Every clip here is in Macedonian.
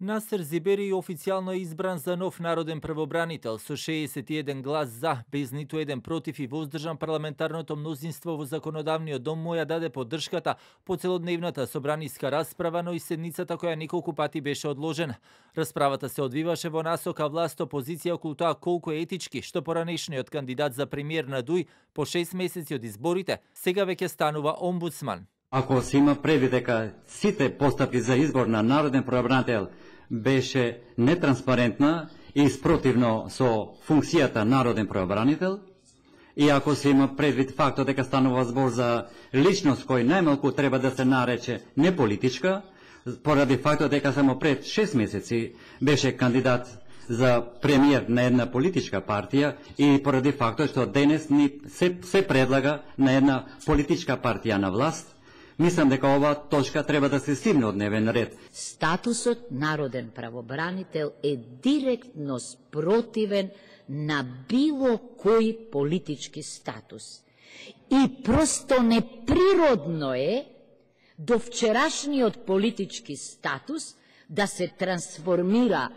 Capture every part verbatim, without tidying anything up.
Насер Зибери официјално е избран за нов народен правобранител со шеесет и еден глас за, без ниту еден против и воздржан. Парламентарното мнозинство во законодавниот дом му ја даде поддршката по целодневната собраниска расправа, но и седницата која неколку пати беше одложена. Расправата се одвиваше во насока власт опозиција околу тоа колку е етички што поранешниот кандидат за премиер на ДУИ по шест месеци од изборите сега веќе станува омбудсман. Ако се има предвид дека сите постапки за избор на народен правобранител беше нетранспарентна и спротивно со функцијата народен правобранител, и ако се има предвид фактот дека станува збор за личност кој најмалку треба да се нарече неполитичка, поради фактот дека само пред шест месеци беше кандидат за премиер на една политичка партија и поради фактот што денес ни се, се предлага на една политичка партија на власт, мислам дека оваа точка треба да се стигне од дневен ред. Статусот народен правобранител е директно спротивен на било кој политички статус. И просто неприродно е до вчерашниот политички статус да се трансформира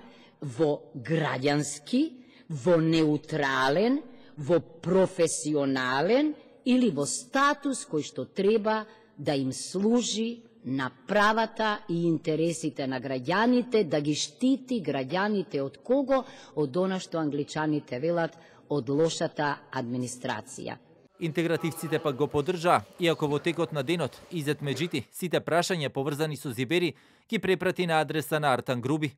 во граѓански, во неутрален, во професионален или во статус кој што треба да им служи на правата и интересите на граѓаните, да ги штити граѓаните од кого? Од она што англичаните велат, од лошата администрација. Интегративците пак го поддржаа, иако во текот на денот Изет Меджити сите прашања поврзани со Зибери ги препрати на адреса на Артан Груби.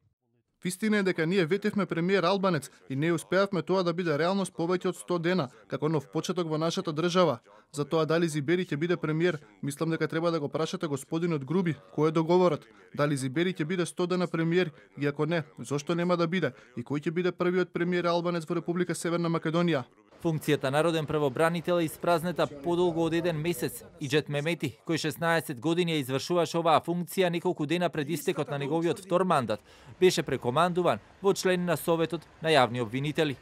Вистина е дека ние ветевме премиер Албанец и не успеавме тоа да биде реалност повеќе од сто дена, како нов почеток во нашата држава. За тоа дали Зибери ќе биде премиер, мислам дека треба да го прашате господинот Груби, кој е договорот. Дали Зибери ќе биде сто дена премиер, и ако не, зошто нема да биде? И кој ќе биде првиот премиер Албанец во Република Северна Македонија? Функцијата народен правобранител е испразнета подолго од еден месец. Иџет Мемети, кој шеснаесет години ја извршуваше оваа функција неколку дена пред истекот на неговиот втор мандат, беше прекомандуван во член на Советот на јавни обвинители.